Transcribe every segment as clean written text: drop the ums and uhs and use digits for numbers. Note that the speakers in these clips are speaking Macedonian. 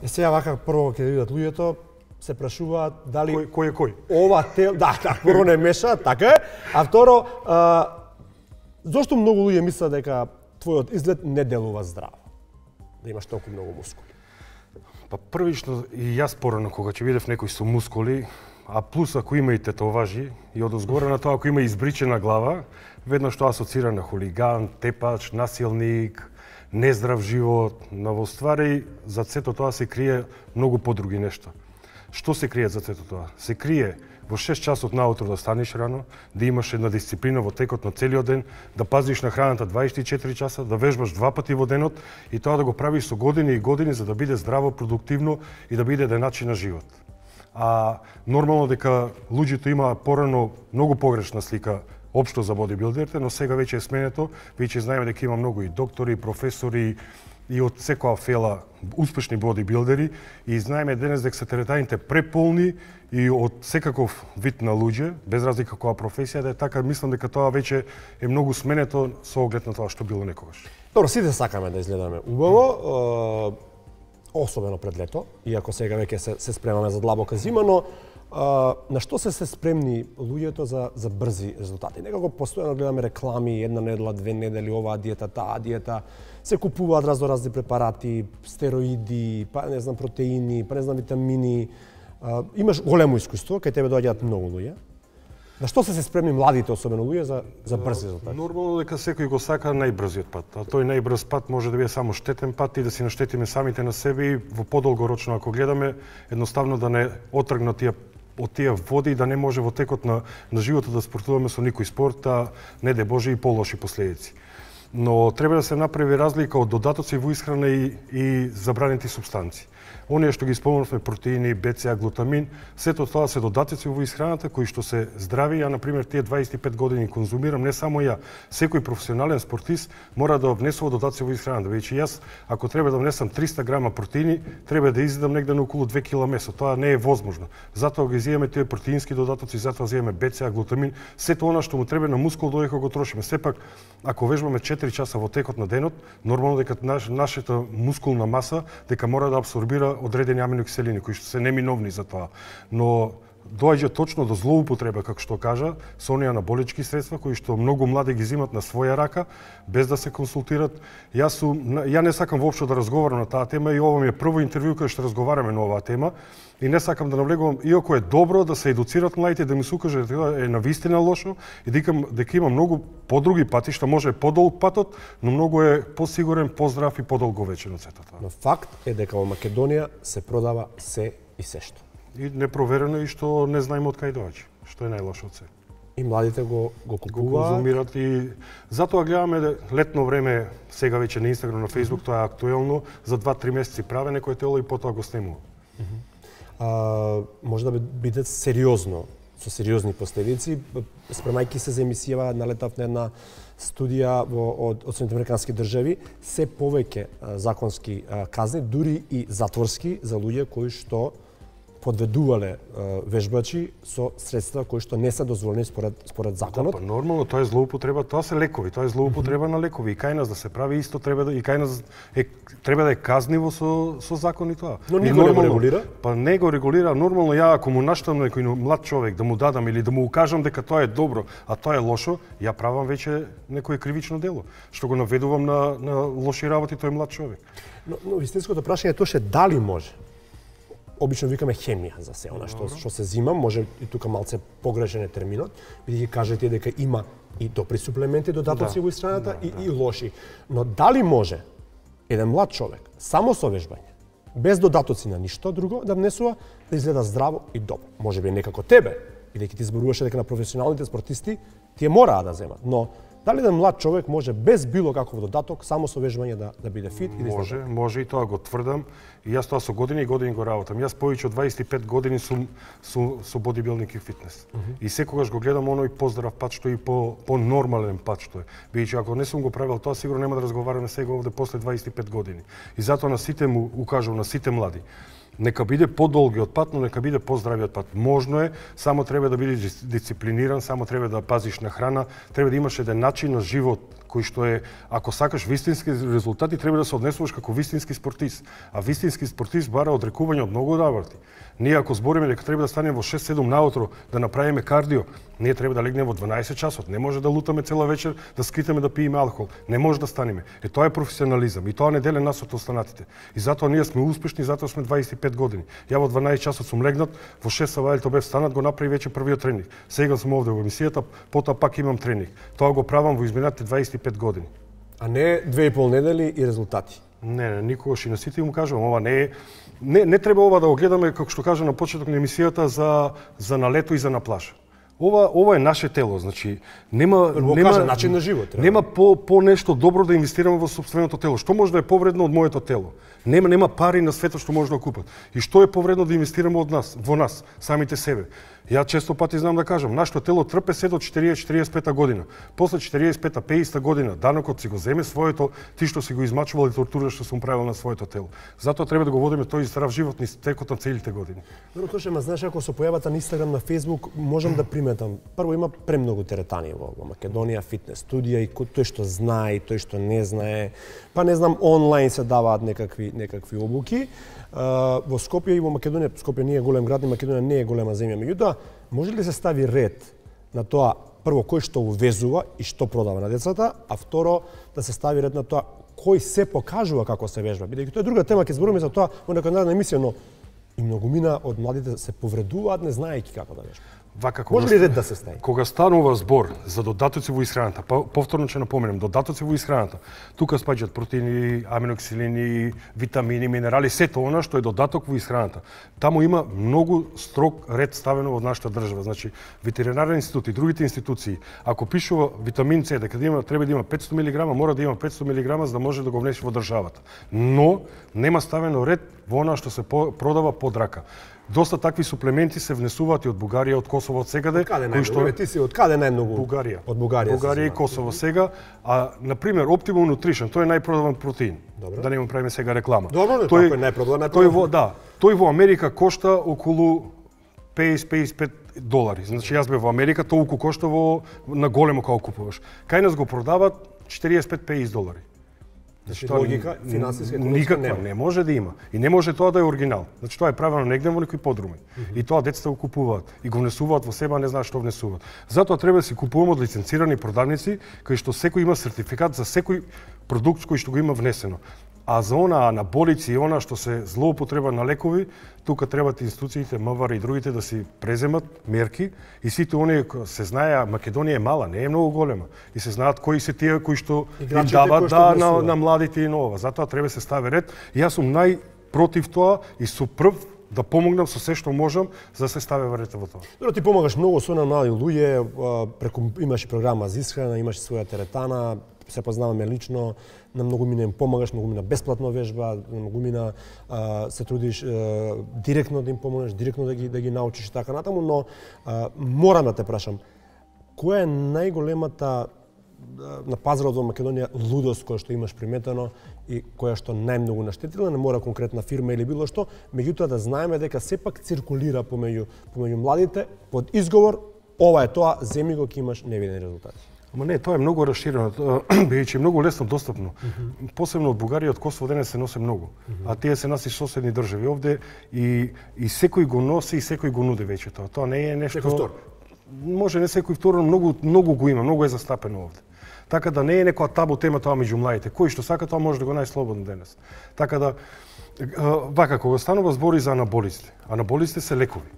Сега вака прво ќе видат луѓето се прашуваат дали кој е кој? Ова да, прво не меша, така е. А второ, зошто многу луѓе мислат дека твојот изглед не делува здраво? Да имаш толку многу мускули. Па првично и јас порано кога ќе видев некој со мускули, а плюс ако има и тетоважи и одозгоре на тоа ако има избричена глава, веднаш тоа асоцира на хулиган, тепач, насилник, нездрав живот, но во ствари за сето тоа се крие многу подруги нешта. Што се крие за сето тоа? Се крие во 6 часот наутро да станеш рано, да имаш една дисциплина во текот на целиот ден, да пазиш на храната 24 часа, да вежбаш 2 пати во денот и тоа да го правиш со години и години за да биде здраво, продуктивно и да биде еден начин на живот. А нормално дека луѓето има порано многу погрешна слика општо за бодибилдерите, но сега веќе е сменето, веќе знаеме дека има многу и доктори, и професори и од секоја фела успешни бодибилдери и знаеме денес дека се теретаните преполни и од секаков вид на луѓе, без разлика која професија да е така, мислам дека тоа веќе е многу сменето со оглед на тоа што било некогаш. Добро, сите сакаме да изгледаме убаво, особено пред лето, иако сега веќе се спремаме за длабока зима, но на што се спремни луѓето за брзи резултати? Некако постојано гледаме реклами, една недела, 2 недели, оваа диета, таа диета, се купуваат разни препарати, стероиди, па не знам протеини, па не знам витамини. Имаш големо искуство, кај тебе доаѓаат многу луѓе. На што се спремни младите, особено луѓе, за брзи резултати? Нормално дека секој го сака најбрзиот пат, а тој најбрз пат може да биде само штетен пат и да си наштетиме самите на себе и во подолгорочно ако гледаме, едноставно да не отргнат од тие води и да не може во текот на животот да спортуваме со никој спорт, а не де Боже и полоши последици. Но треба да се направи разлика од додатоци во исхрана и забранети супстанции. Оние што ги спомнавме, протеини, БЦА, глутамин, сето тоа се додатоци во исхраната кои што се здрави. Ја, например, тие 25 години конзумирам, не само ја, секој професионален спортист мора да внесува додатоци во исхраната. Веќе јас, ако треба да внесам 300 грама протеини, треба да изидам негде на околу 2 кг месо. Тоа не е возможно. Затоа ги изиеме тие протеински додатоци, затоа изиеме БЦА, глутамин, сето она што му треба на мускул додека го трошиме. Сепак, ако вежбаме 4 часа во текот на денот, нормално дека нашата мускулна маса дека мора да абсорбира одредени аминокиселини кои што се неминовни за тоа. Но доаѓа точно до злоупотреба, како што кажа, со оние анаболички средства кои што многу млади ги зимат на своја рака без да се консултират. Ја не сакам воопшто да разговарам на таа тема и ова ми е прво интервју кај што разговараме на оваа тема и не сакам да навлегувам, иако е добро да се едуцират младите, да ми се укаже дека е навистина лошо и дека има многу подруги патишта, може подолг патот, но многу е посигурен, поздрав и подолговечен од сето тоа. Но факт е дека во Македонија се продава се и сешто. И непроверено и што не знаеме од кај доаѓа, што е најлошо од се. И младите го купуваат. Го конзумират и затоа гледаме летно време, сега веќе на Инстаграм, на Фејсбук, тоа е актуелно, за 2-3 месеци праве некој тело и потоа го снемува. Може да биде сериозно, со сериозни последици, спремајќи се за емисија, налетав на една студија од Соединените американски држави, се повеќе законски казни, дури и затворски за луѓе кои што подведувале вежбачи со средства кои што не се дозволени според законот. Да, па нормално, тоа е злоупотреба, тоа се лекови, тоа е злоупотреба на лекови. И кај нас да се прави исто треба да и кај нас треба да е казниво со закони тоа. Но никој не го регулира? Па не го регулира, нормално ја ако му наштам некој млад човек да му дадам или да му укажам дека тоа е добро, а тоа е лошо, ја правам веќе некое кривично дело, што го наведувам на лоши работи тој млад човек. Но вистинското прашање е тоа дали може. Обично викаме хемија за се, она што се зима, може и тука малце погрешен е терминот, бидејќи кажете дека има и добри суплементи, додатоци во исхраната и лоши. Но дали може еден млад човек само со вежбање, без додатоци на ништо друго да внесува, да изгледа здраво и добро? Можеби некако тебе, бидејќи ти зборуваше дека на професионалните спортисти тие мораа да земат, но дали еден млад човек може без било каков додаток само со вежбање да биде фит и да изгледа? Може и тоа го тврдам. И јас тоа со години и години го работам. Јас повеќе од 25 години сум со бодибилдинг и фитнес. И секогаш го гледам оној поздрав пат што и по нормален пат што е. Бидејќи ако не сум го правил тоа, сигурно нема да разговараме сега овде после 25 години. И затоа на сите му укажувам, на сите млади. Нека биде подолгиот пат, но нека биде поздравиот пат. Можно е, само треба да бидеш дисциплиниран, само треба да пазиш на храна, треба да имаш еден начин на живот кој што е, ако сакаш вистински резултати, треба да се однесуваш како вистински спортист. А вистински спортист бара одрекување од многу работи. Ние ако збориме дека треба да станеме во 6-7 наутро да направиме кардио, ние треба да легнеме во 12 часот. Не може да лутаме цела вечер, да скитаме да пиеме алкохол. Не може да станеме. Тоа е професионализам и тоа не деле нас од останатите. И затоа ние сме успешни, затоа сме 25 години. Ја во 12 часот сум легнат, во 6 савајлето бев станат, го направи вече првиот тренинг. Сега сум овде во емисијата, потоа пак имам тренинг. Тоа го правам во изминатите 25 години. А не 2,5 недели и резултати. Не, никогаш и на сите му кажувам, ова не е не треба ова да го гледаме како што кажа на почеток на емисијата за на лето и за на плажа. Ова е наше тело, значи нема начин на живот. Нема по нешто добро да инвестираме во сопственото тело. Што може да е повредно од моето тело? Нема пари на светот што може да купат. И што е повредно да инвестираме во нас, самите себе? Ја често пати знам да кажам, нашето тело трпе се до 40-45 година. После 45-50 година данокот си го земе своето, ти што си го измачувал и тортура што сум правил на своето тело. Затоа треба да го водиме тој здрав живот низ текот на целите години. Добро, Тоше, ма знаеш, ако се појавата на Инстаграм, на Фејсбук, можам да приметам. Прво има премногу теретани во Македонија, фитнес студија и тој што знае и тој што не знае. Па не знам, онлайн се даваат некакви обуки. Во Скопје и во Македонија, Скопје не е голем град, и Македонија не е голема земја. Меѓутоа, може ли се стави ред на тоа, прво, кој што увезува и што продава на децата, а второ, да се стави ред на тоа кој се покажува како се вежба? Бидејќи тоа е друга тема, ќе збориме за тоа во некоја наредна емисија, но и многумина од младите се повредуваат не знаејќи како да вежбаат. Може ли ред да се стави? Кога станува збор за додатоци во исхраната, повторно ќе напоменем, додатоци во исхраната, тука спаѓаат протеини, аминокиселини, витамини, минерали, сето она што е додаток во исхраната. Таму има многу строг ред ставено во нашата држава. Значи, ветеринарен институт и другите институции, ако пишува витамин С, дека треба да има 500 мг, мора да има 500 мг за да може да го внесе во државата. Но нема ставено ред во она што се продава под рака. Доста такви суплементи се внесуваат и од Бугарија, од Косово, од секаде. Кои што ти си од каде најмногу? Бугарија. Од Бугарија. Бугарија и Косово сега, а на пример Optimum Nutrition, тој е најпродаван протеин. Добре. Да не му правиме сега реклама. Добро, тој е најпродаван. Тој во Америка кошта околу $50-55. Значи јас бев во Америка, толку кошта на големо кога купуваш. Кај нас го продават $45-50. Значи, логика, финансиска, економска не може да има. И не може тоа да е оригинал. Значи, тоа е правено негде во некој подрумен. И тоа децата го купуваат. И го внесуваат во себе, а не знаат што внесуваат. Затоа треба да си купуваме од лиценцирани продавници, кои што секој има сертификат за секој продукт кој што го има внесено. А за она анаболици и она што се злоупотреба на лекови, тука требат институциите, МВР и другите да си преземат мерки и сите оние се знае, Македонија е мала, не е многу голема. И се знаат кои се тие кои што им дават на младите и нова. Затоа треба се стави ред. И јас сум најпротив тоа и сум прв да помогнам со се што можам за да се стави ред во тоа. Добро, ти помагаш многу со млади луѓе, преку имаш програма за исхрана, имаш своја теретана, се познаваме лично, на многумина им помагаш, многумина бесплатно вежба, на многумина се трудиш директно да им помогнеш, директно да ги научиш и така натаму, но морам да те прашам, која е најголемата на пазарот во Македонија лудост која што имаш приметено и која што најмногу наштетила, не мора конкретна фирма или било што, меѓутоа да знаеме дека сепак циркулира помеѓу младите под изговор ова е тоа, земи го ќе имаш невидени резултати. Ама не, тоа е многу расширено, бидејќи е многу лесно достапно. Посебно од Бугарија, од Косово денес се носи многу. А тие се наши соседни држави овде и секој го носи и секој го нуди веќе тоа. Тоа не е нешто. Секој втор. Може не секој втор, но многу го има, многу е застапено овде. Така да не е некоја табу тема тоа меѓу младите. Кој што сака тоа може да го најслободно денес. Така да вака кога станува збори за анаболиците. Анаболиците се лекови.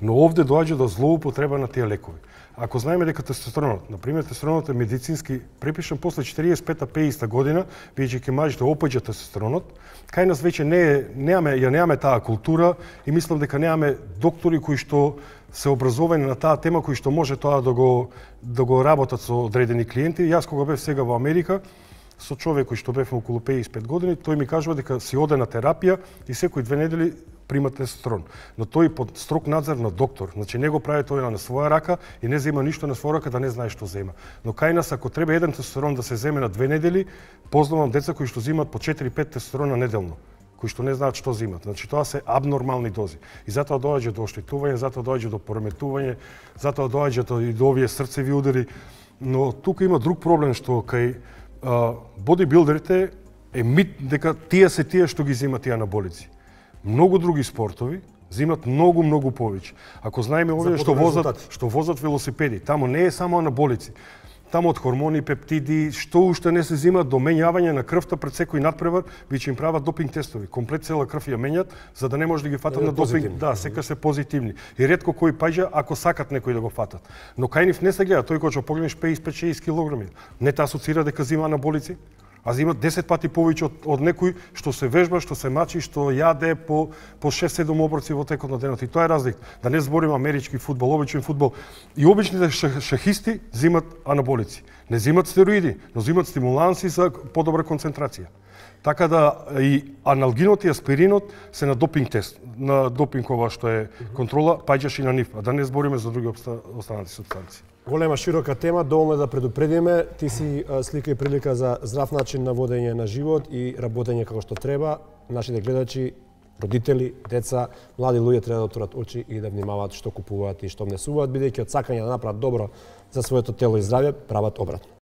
Но овде доаѓа до злоупотреба на тие лекови. Ако знаеме дека тестостеронот, например, тестостеронот е медицински припишан после 45-50 година, бидејќи ќе мажите опаѓа тестостеронот, кај нас веќе немаме таа култура и мислам дека немаме доктори кои што се образовани на таа тема, кои што може тоа да го работат со одредени клиенти. Јас кога бев сега во Америка, со човек кој што бев околу 55 години, тој ми кажува дека си оде на терапија и секои 2 недели прима тестостерон. Но тој под строг надзор на доктор. Значи не го прави тој на своја рака и не зема ништо на своја рака да не знае што зема. Но кај нас ако треба еден тестостерон да се земе на 2 недели, познавам деца кои што земат по 4-5 тестостерона неделно, кои што не знаат што земат. Значи тоа се абнормални дози. И затоа доаѓа до оштетување, затоа доаѓа до пореметување, затоа доаѓа и до овие срцеви удари. Но тука има друг проблем што кај бодибилдерите е мит дека тие се тие што ги земат тие анаболици. Многу други спортови земат многу повеќе. Ако знаеме овие што возат велосипеди, тамо не е само анаболици. Тамо од хормони, пептиди, што уште не се земат до менјавање на крвта пред секој надпревар, веќе им прават допинг тестови. Комплет цела крв ја менјат за да не може да ги фатат на допинг. Да, секогаш се позитивни. И ретко кој паѓа ако сакат некој да го фатат. Но кај нив не се гледа, тој кога ќе погледнеш 55-60 килограми, не та асоцира дека зема анаболици, а зема 10 пати повеќе од некој што се вежба, што се мачи, што јаде по 6-7 оброци во текот на денот. И тоа е разлика. Да не збориме амерички фудбал, обичен фудбал. И обичните шахисти земат анаболици. Не земат стероиди, но земат стимуланси за подобра концентрација. Така да и аналгинот и аспиринот се на допинг тест, на допинг ова што е контрола, паѓаш и на нив, а да не збориме за други останати супстанции. Голема широка тема, доволно да предупредиме. Ти си слика и прилика за здрав начин на водење на живот и работење како што треба. Нашите гледачи, родители, деца, млади луѓе треба да отворат очи и да внимаваат што купуваат и што внесуваат, бидејќи од сакање да направат добро за своето тело и здравје, прават обратно.